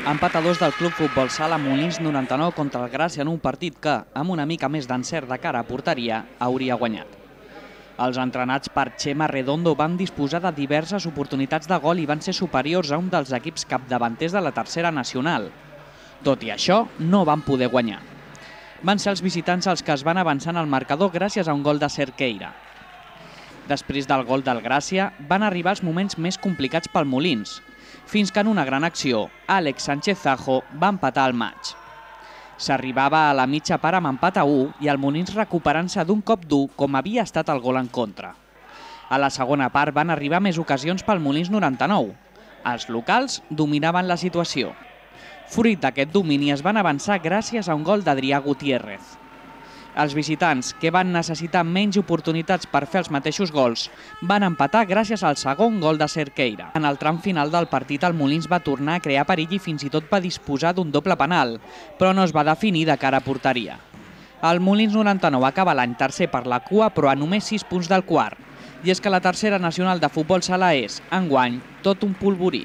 Empat a 2 del Club Futbol Sala Molins 99 contra el Gràcia en un partit que, amb una mica més d'encert de cara a porteria, hauria guanyat. Els entrenats per Chema Redondo van disposar de diverses oportunitats de gol i van ser superiors a un dels equips capdavanters de la tercera nacional. Tot i això, no van poder guanyar. Van ser els visitants els que es van avançar en el marcador gràcies a un gol de Cerqueira. Després del gol del Gràcia, van arribar els moments més complicats pel Molins, fins que en una gran acció, Àlex Sánchez-Zajo va empatar el maig. S'arribava a la mitja part amb empat a 1 i el Molins recuperant-se d'un cop dur com havia estat el gol en contra. A la segona part van arribar més ocasions pel Molins 99. Els locals dominaven la situació. Fruit d'aquest domini es van avançar gràcies a un gol d'Adrià Gutiérrez. Els visitants, que van necessitar menys oportunitats per fer els mateixos gols, van empatar gràcies al segon gol de Cerqueira. En el tram final del partit, el Molins va tornar a crear perill i fins i tot va disposar d'un doble penal, però no es va definir de cara a porteria. El Molins 99 acaba l'any tercer per la cua, però a només 6 punts del quart. I és que la tercera nacional de futbol sala és, enguany, tot un polvorí.